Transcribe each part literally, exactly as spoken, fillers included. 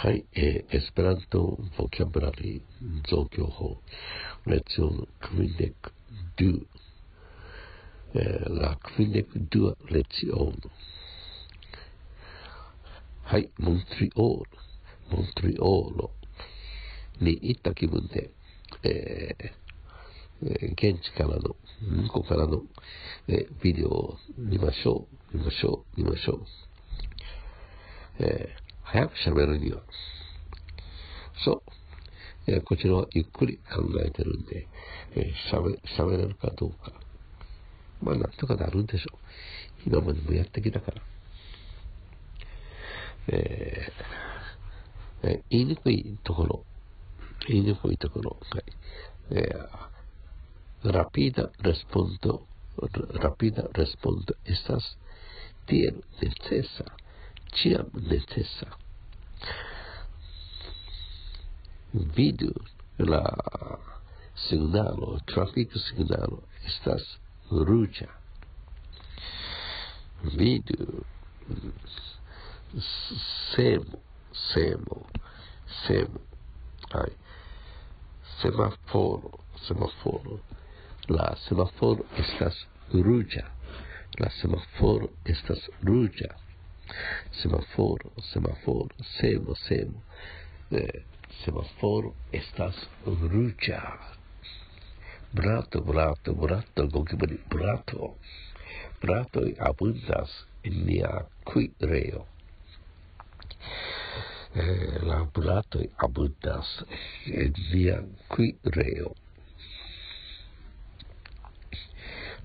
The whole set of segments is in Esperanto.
Hai, eh, Esperanto vocabulari zokyoho. Leciono kvindek du. Eh, la kvindek dua leciono. Hai, Montreal. Montreal. Ni ita kibunte. Eh, eh, 現地からの、向こうからの、えー、ビデオを見ましょう、見ましょう、見ましょう。えー、早く喋るには。そう。えー、こちらはゆっくり考えてるんで、えー、喋、喋れるかどうか。まあ、なんとかなるんでしょう。今までもやってきたから。えー、えー、言いにくいところ。言いにくいところ。はい。えー、rapida respondo, rapida respondo estas tiel necesa, ĉiam necesa. Vidu la signalo, trafik signalo estas ruĝa. Vidu semo, semo, semo. Ai. Semaforo, semaforo. La semaforo estas ruĝa. La semaforo estas ruĝa. Semaforo, semaforo, semo, semo. Eh, semaforo estas ruĝa. Brato, brato, brato, gokibri, brato. Bratoj abundas en nia kuirejo. Eh, la bratoj abundas en nia kuirejo.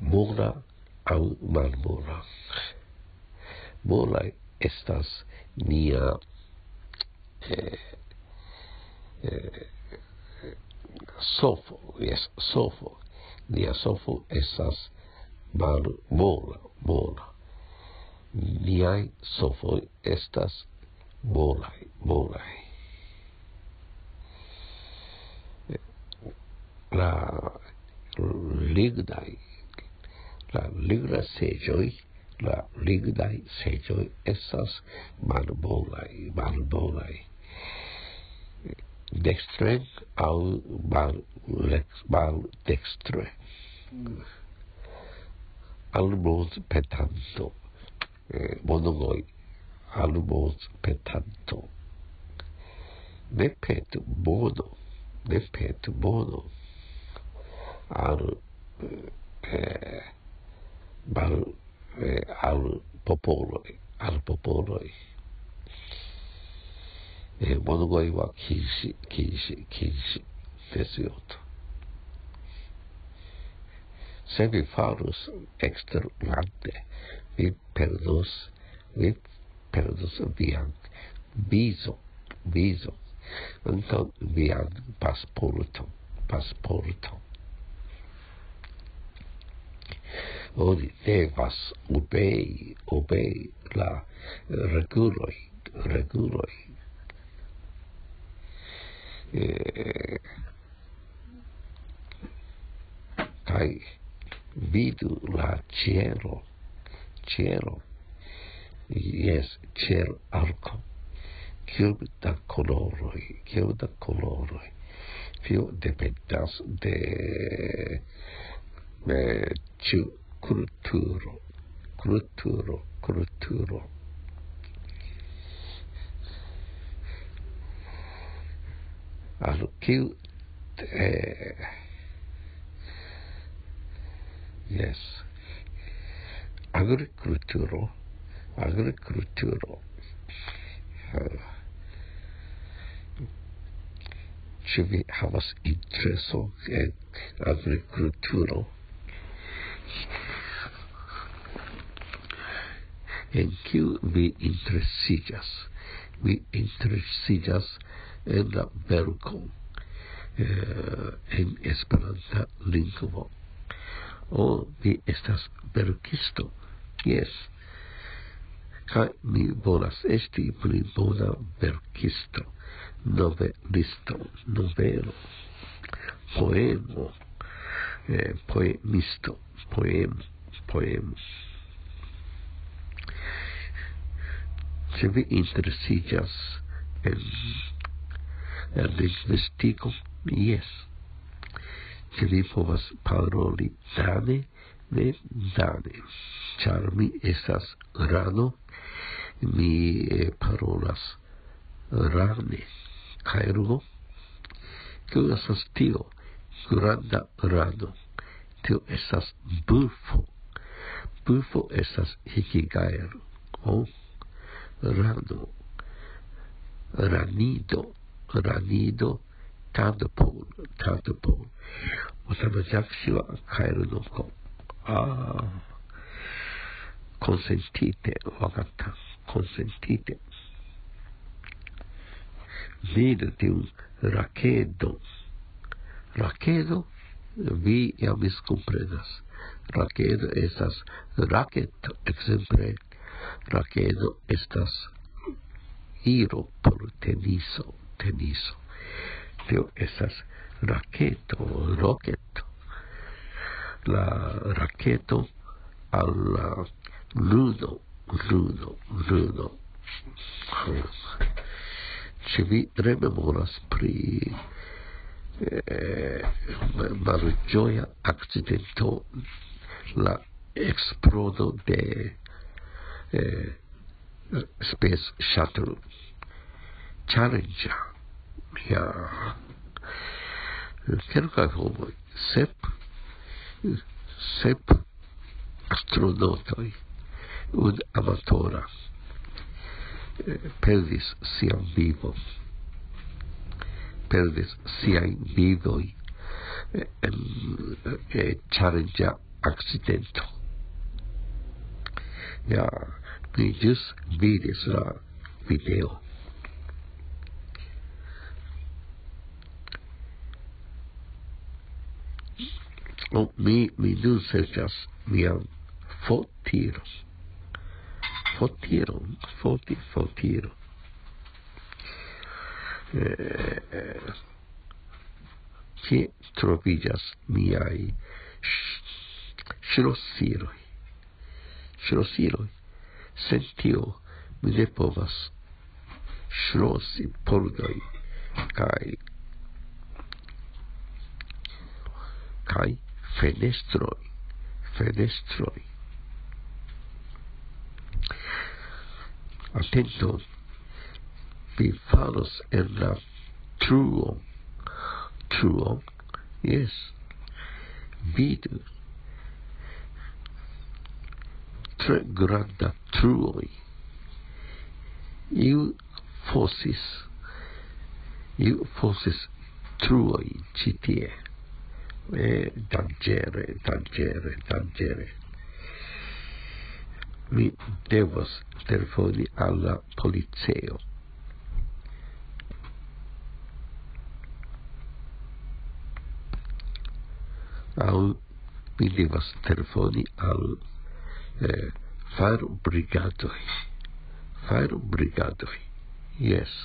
Mora aŭ malmora. Molaj estas nia, eh, eh, sofo, jes, sofo. Nia sofo estas malmola, mola. Niaj sofoj estas molaj, molaj. La lignaj, la lignaj seĝoj, la lignaj seĝoj estas malmolaj, malmolaj. Dekstre aŭ mal-, lex-, maldekstre. Almoz petanto. Eh, monogoj, almoz petanto. Ne petu mono, ne petu mono. Al, eh, mal, eh, al popoloj, al popoloj. Eh, monogoj wa kinsi, kinsi, kinsi. Desioto. Se vi farus eksterlande, vi perdos, vi perdos vian vizo, vizo, ankaŭ vian pasporto, pasporto. Oni devas obei, obei la reguloj, reguloj. Eh, kaj vidu la ĉielo, ĉielo. Jes, ĉielarko. Kiom da koloroj, kiom da koloroj. Tio dependas de, eh, ĉu kulturo, kulturo, kulturo. Al kiu, eh, jes. Agrikulturo, agrikulturo. Eh, ĉu vi havas intereso en agrikulturo? En kiu vi interesiĝas? Mi interesiĝas en la verko, eh, en Esperanta lingvo. O, vi estas verkisto? Jes. Kaj mi volas esti pli bona verkisto, novelisto, novelo, poemo, eh, poemisto, poemo, poemo. Se vi interesiĝas en, en lingvistiko, jes. Ĉu vi povas paroli dane? Ne dane, ĉar mi estas rano, mi eh, parolas rane. Kaj rugo, kio estas tio? Granda rano. Tio estas bufo. Bufo estas hikigaero. O rano. Ranido. Ranido. Tadpole. Tadpole. Otama jaksiwa kaeru no ko. Ah. Konsentite, wakata. Konsentite. Vidu tiun rakedo. Rakedo, vi jam miskomprenas. Rakedo estas raketo, ekzemple. Rakedo estas iro por teniso, teniso. Tio estas raketo, roketo. La raketo al la ludo, ludo, ludo. Ĉu vi rememoras pri eh, malĝoja akcidento, la eksplodo de eh, Space Shuttle? Challenger. Ja. Kelkaj homoj, sep, sep astronautoj, un amatora, eh, perdis sian vivon. Perdis siajn vivoj eh, en eh, Challenger akcidento. Ja, mi ĵus vidis la video. Oh, mi, mi nun serĉas mian fotiron. Fotiron, foti, fotiron. Eh, eh, kie troviĝas miaj ŝ- ŝlosiloj? Ŝlosiloj. Sen tio mi ne povas ŝlosi pordoj kaj kaj fenestroj. Fenestroj. Atento, vi falos en la truo. Truo? Jes. Vidu. Tre granda truoj. Iu fosis. Iu fosis truoj ĉi tie. Eh, danĝere, danĝere, danĝere. Mi devos telefoni al la policejo. Aŭ mi devas telefoni al eh, fajrobrigadoj. Fajrobrigadoj. Jes.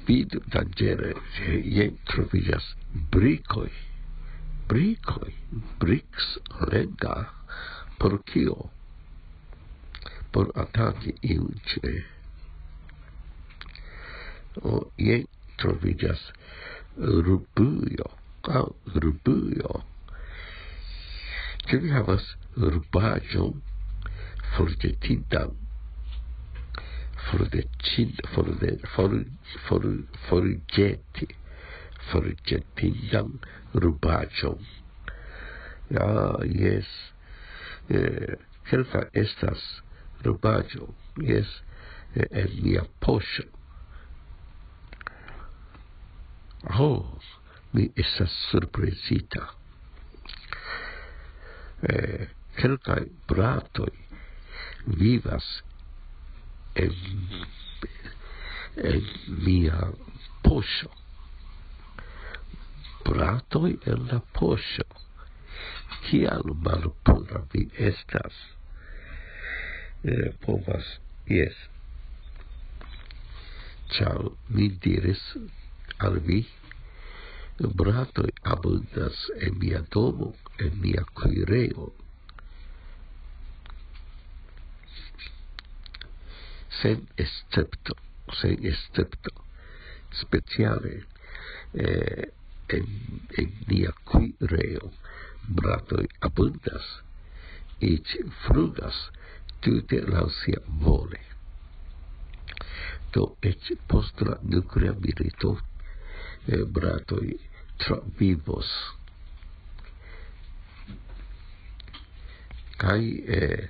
Vidu danĝere, jen troviĝas brikoj. Brikoj. Briks lenga. Por kio? Por ataki iun ĉe. O, jen troviĝas rubujo. Aŭ rubujo. Ĉu vi havas rubaĵon forĵetindan? Fordetin, forde, for, for, forĵeti. Forĵetindan rubaĵon. Ja, jes. Eh, kelka estas rubaĵo. Jes, eh, en mia poŝo. Ho, mi estas surprizita. Eh, kelkaj bratoj vivas en, en mia poŝo. Bratoj en la poŝo. Kial malpura vi estas? Eh, povas, jes. Ĉar mi diris al vi, bratoj abundas en mia domo, en mia kuirejo. sen escepto, sen escepto, speciale eh, en, en nia kuirejo bratoj abundas, eĉ flugas tute laŭ sia vole. Do eĉ post la nuklea milito eh, bratoj travivos. Kaj eh,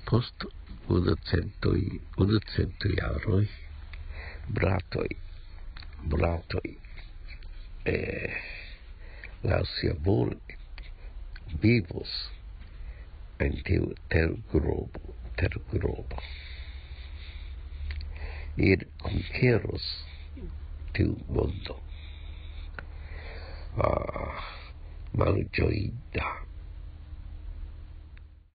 post unu centoj, unu cento jaroj, bratoj, bratoj, eh, laŭ sia volo vivos en tiu terglobo, terglobo. Ir konkeros tiu mondo. Ah, malĝoinda.